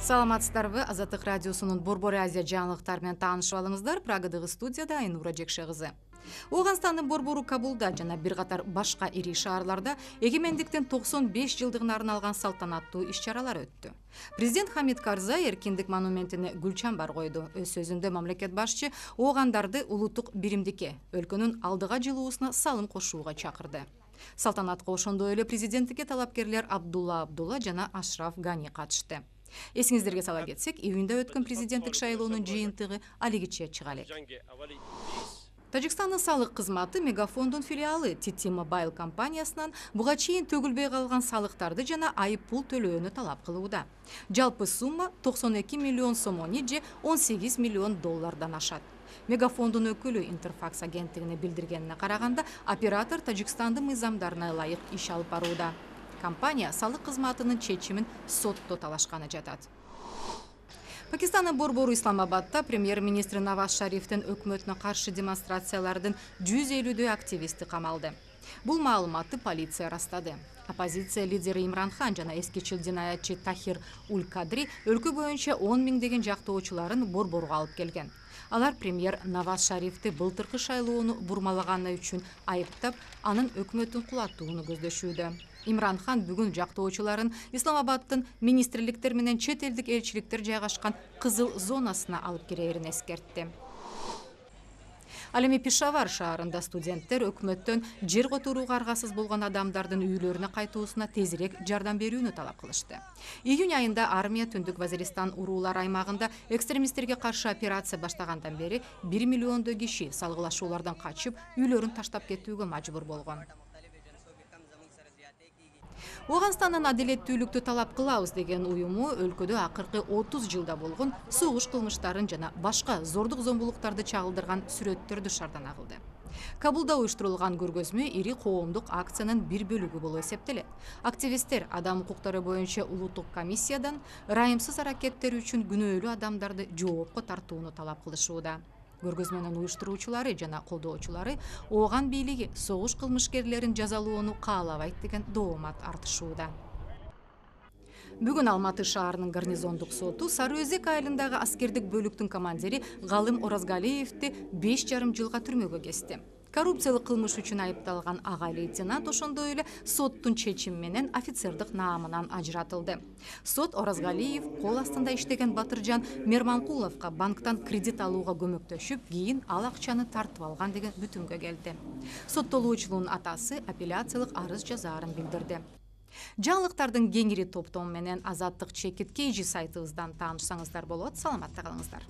Саламатсыздарбы? Азаттык радиосунун Борбор Азия жаңылыктары менен таанышып алыңыздар. Прагадагы студияда Айнура Жекше кызы. Ооганстандын борбору Кабулда жана бир катар башка ири шаарларда эгемендиктин 95 жылдыгына арналган салтанаттуу иш-чаралар өттү. Президент Хамид Карзай эркиндик монументине гүл чамбар койду. Өз сөзүндө мамлекет башчы оогандарды улуттук биримдикке, өлкөнүн алдыга жылуусуна салым кошууга чакырды. Салтанатка ошондой эле президенттикке талапкерлер Абдулла Абдулла жана Ашраф Гани катышты. Эсиңиздерге сала кетсек, июнда өткөн президенттик шайлоонун жыйынтыгы алигиче чыга элек. Тажикстандын салык кызматы Мегафондун филиалы TT Mobile компаниясынан буга чейин төгүлбөй калган салыктарды жана айып пул төлөөнү талап кылууда. Жалпы сумма 92 миллион сомони же 18 миллион доллардан ашат. Мегафондун өкүлү Интерфакс агенттигине билдиргенине караганда, оператор Тажикстандын мыйзамдарына ылайык иш алып барууда. Компания салык кызматынын чечимин сотто талашканы жатат. Пакистандын борбору Исламабадда премьер-министр Наваз Шарифтин өкмөтүнө каршы демонстрациялардын 150дөй активисти камалды. Бул маалыматты полиция растады. Оппозиция лидери Имран Хан жана эскичил динаятчы Тахир Уль-Кадри өлкө боюнча 10 миңдеген жактоочуларын борборго алып келген. Алар премьер Наваз Шарифти былтыркы шайлоону бурмалаганы үчүн айыптап, анын өкмөтүн кулатууну көздөшүүдө. Имран Хан бүгүн жактоочуларын Исламабаддын министрликтер менен чет элдик элчиликтер жайгашкан кызыл зонасына алып кирээрин эскертти. Ал эми Пешавар шаарында студенттер өкмөттөн жер которууга аргасыз болгон адамдардын үйлөрүнө кайтуусуна тезирээк жардам берүүнү талап кылышты. Июнь айында армия Түндүк Вазиристан уруулар аймагында экстремисттерге каршы операция баштагандан бери 1 миллиондой киши салгылашуулардан качып, үйлөрүн таштап кетүүгө мажбур болгон. Ооганстандын адилеттүүлүктү талап кылабыз деген уюму өлкөдө акыркы 30 жылда болгон согуш кылмыштарын жана башка зордук зомбулуктарды чагылдырган сүрөттөрдү шардан агылды. Кабулда уюштурулган көргөзмө ири коомдук акциянын бир бөлүгү болуп эсептелет. Активисттер адам укуктары боюнча улуттук комиссиядан ырайымсыз аракеттери үчүн күнөөлүү адамдарды жоопко тартууну талап кылышууда. Көргөзмөнүн уюштуруучулары жана колдоочулары ооган бийлиги согуш кылмышкерлерин жазалоону каалабайт деген доомат артышууда. Бүгүн Алматы шаарынын гарнизондук соту Сары Өзек айылындагы аскердик бөлүктүн командири Галым Оразгалиевди 5,5 жылга түрмөгө кести. Коррупциялык кылмыш үчүн айыпталган ага лейтенант ошондой эле соттун чечими менен офицердик наамынан ажыратылды. Сот Оразгалиев кол астында иштеген Батыржан Мерманкуловго банктан кредит алууга көмөктөшүп, кийин ал акчаны тартып алган деген бүтүмгө келди. Соттолуучунун атасы апелляциялык арыз жазаарын билдирди. Жаңылыктардын кеңири топтому менен Азаттык чекит KG сайтыбыздан таанышсаңыздар болот. Саламатта калыңыздар.